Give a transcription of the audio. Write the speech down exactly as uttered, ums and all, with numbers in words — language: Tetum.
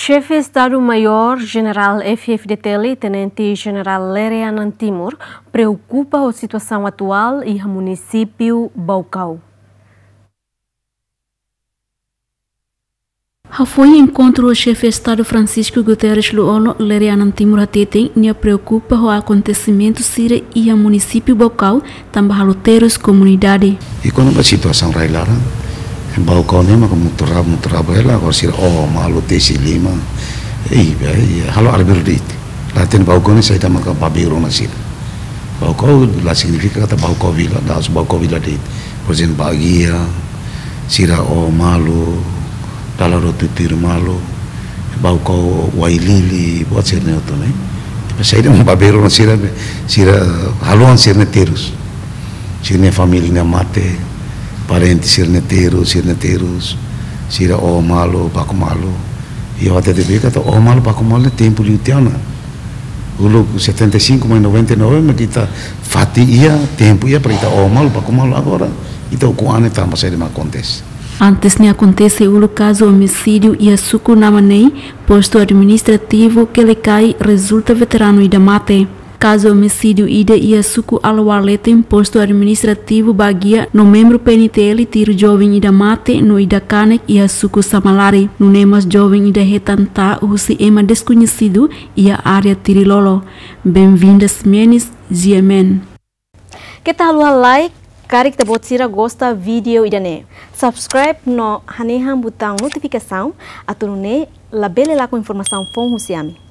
Xefe Estadu Maiór Jenerál F-FDTL, Tenente Jenerál Lere Anan Timur, preokupa ho situasaun atuál iha munisípiu Baucau. Hafoin enkontru ho Xefe Estadu Francisco Guterres Lú-Olo, Lere Anan Timur hateten nia preokupa ho akontesimentu sira iha munisípiu Baucau, tanba halo terus komunidade. I kona-ba situasaun rai-laran, Baucau ne'e maka mutu raba, mutu raba hela, agora sira oho malu, tesi liman. I, i halo arbiru de'it. La hatene Baucau ne'e saida maka babeiro ona sira. Baucau la signifika katak Baucau vila, da'os Baucau vila de'it. Por ezemplu, Baguia, sira oho malu, dala rua tutuir malu, Baucau Uailili, buat sira-ne'e hotu ne'e. Depois saida maka babeiro ona sira, sira haluha sira-nia terus. Sira-nia família ne'e mate, parente sira-nia terus, sira-nia terus, sira oho malu, baku malu. I ha'u hatete de'it katak oho malu, baku malu ne'e tempu liu tiha ona. Uluk setenta e cinco mai noventa e nove, mak ita fatin iha, tempu iha para ita oho malu, baku malu, agora ita ukun an ne'e tanba saida mak akontese. Antes ne'e akontese uluk kazu omisídiu iha suku Namanei, postu administrativu Quelicai, rezulta veteranu ida mate. Kazu omisídiu ida iha suku Alawar Leten, postu administrativu Baguia, no membru P N T L tiru joven ida mate no ida kanek iha suku Samalari. Nune'e mós joven ida hetan ta'a husi ema deskoñesidu iha área Tirilolo. Benvinda Ximenes, G M N. Keta haluha like, karik ita-boot sira gosta vídeo ida-ne'e, subscribe no hanehan butaun notifikasaun, atu nune'e labele lakon informasaun foun husi ami.